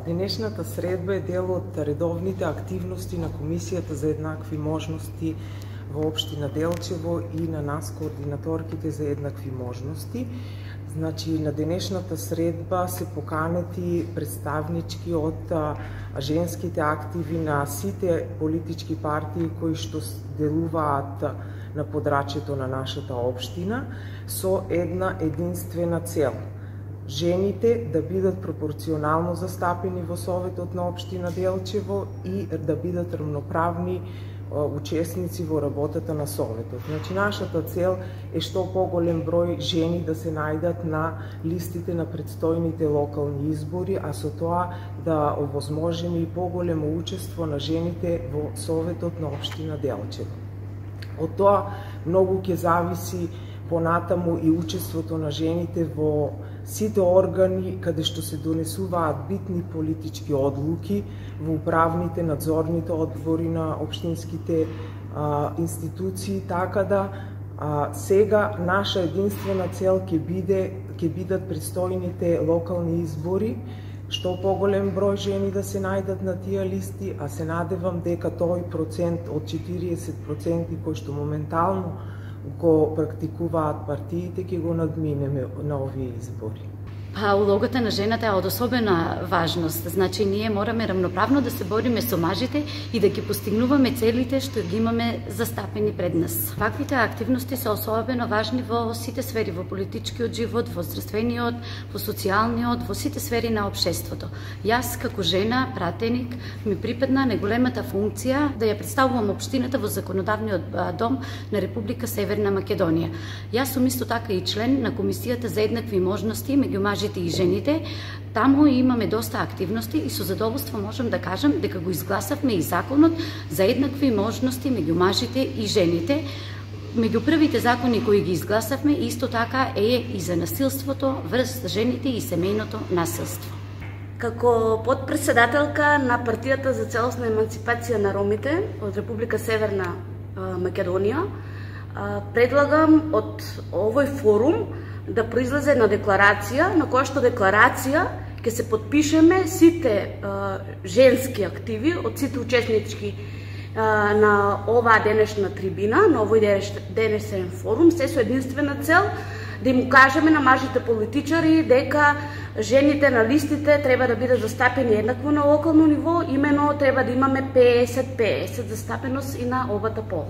Денешната средба е дел од редовните активности на Комисијата за еднакви можности во општина Делчево и на нас, координаторките за еднакви можности. Значи, на денешната средба се поканети представнички од женските активи на сите политички партии кои што делуваат на подрачјето на нашата општина со една единствена цел: жените да бидат пропорционално застапени во Советот на општина Делчево и да бидат рамноправни учесници во работата на Советот. Значи, нашата цел е што поголем број жени да се најдат на листите на предстојните локални избори, а со тоа да овозможиме и поголемо учество на жените во Советот на општина Делчево. Од тоа многу ќе зависи понатаму и учеството на жените во сите органи каде што се донесуваат битни политички одлуки, во управните, надзорните одбори на општинските институции, така да сега наша единствена цел ќе бидат предстојните локални избори, што поголем број жени да се најдат на тие листи, а се надевам дека тој процент од 40% кој што моментално го практикуваат партиите ќе го надминеме на овие избори. Улогата на жената е од особена важност. Значи, ние мораме рамноправно да се бориме со мажите и да ги постигнуваме целите што ги имаме застапени пред нас. Ваквите активности се особено важни во сите сфери, во политичкиот живот, во здравствениот, во социјалниот, во сите сфери на општеството. Јас, како жена, пратеник, ми припадна неголемата функција да ја представувам општината во законодавниот дом на Република Северна Македонија. Јас сум исто така и член на Комисијата за еднакви можности меѓу мажите и жените. Таму имаме доста активности и со задоволство можам да кажам дека го изгласавме и законот за еднакви можности меѓу мажите и жените. Меѓу првите закони кои ги изгласавме исто така е и за насилството врз жените и семејното насилство. Како подпредседателка на Партијата за целосна емансипација на ромите од Република Северна Македонија, предлагам од овој форум да произлезе една декларација, на која што декларација ќе се подпишеме сите женски активи од сите учеснички на оваа денешна трибина, на овој денешен форум, се со единствена цел да им кажеме на мажите политичари дека жените на листите треба да бидат застапени еднакво на локално ниво, имено треба да имаме 50-50 застапеност и на обата пол.